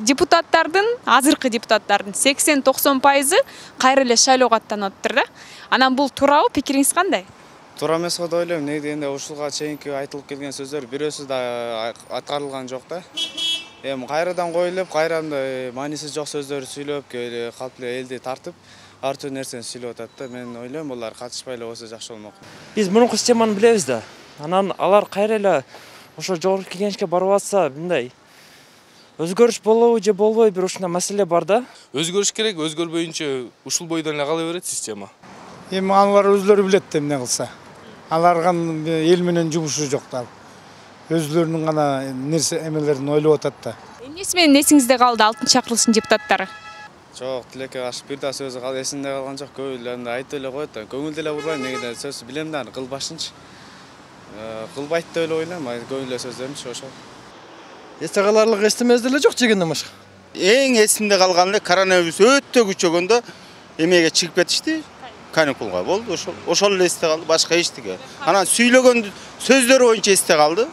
депутаттардын, азыркы депутаттардын 80-90% кайра эле шайлоого аттанып атыптыр да. Анан бул туурабы, пикириңиз кандай? Туура эмес деп ойлойм. Негизи дегенде ушулга чейинки айтылып келген сөздөр бирөөсү да аткарылган жок да. Эми кайрадан коюлуп, кайрадан мааниси жок сөздөр сүйлөп, калп эле элди тартып, ар түрдүү нерсени сүйлөп атат да. Мен ойлойм, булар катышпай эле болсо жакшы болмок. Биз мурунку системаны билебиз да. Анан алар кайра эле ошо жогорку кеңешке барып атса, мындай өзгөрүш болобу же болбойбу, бир ушундай маселе бар да. Өзгөрүш керек, өзгөрбөйүнчө ушул бойдон эле кала берет система. Эми алар өзлөрү билет эмне кылса. Аларган эл менен жумушу жок да. Өзлөрүнүн гана нерсе эмелерин ойлоп атат да. Эмнеси менен эсиңизде калды 6-чакырылыштын депутаттары? Жок, тилекке каршы бир да сөзү эсимде калган жок. Көбүлөрүндө айтып эле коет да. Көңүлдө эле урбайм, негиде сөз билем да, кылбашынчы. Кылбайт деп эле ойлойм, көңүл эле сөздөрүмчү ошол. Эсте каларлык эстемездер эле жок жегенден башка. Эң эсимде калган эле коронавирус өтө күчөгөндө эмеге чыгып кетишти. Каникулга болду, ошол эле эсте калды, башка эчтеке. Анан сүйлөгөн сөздөрү боюнча эсте калды.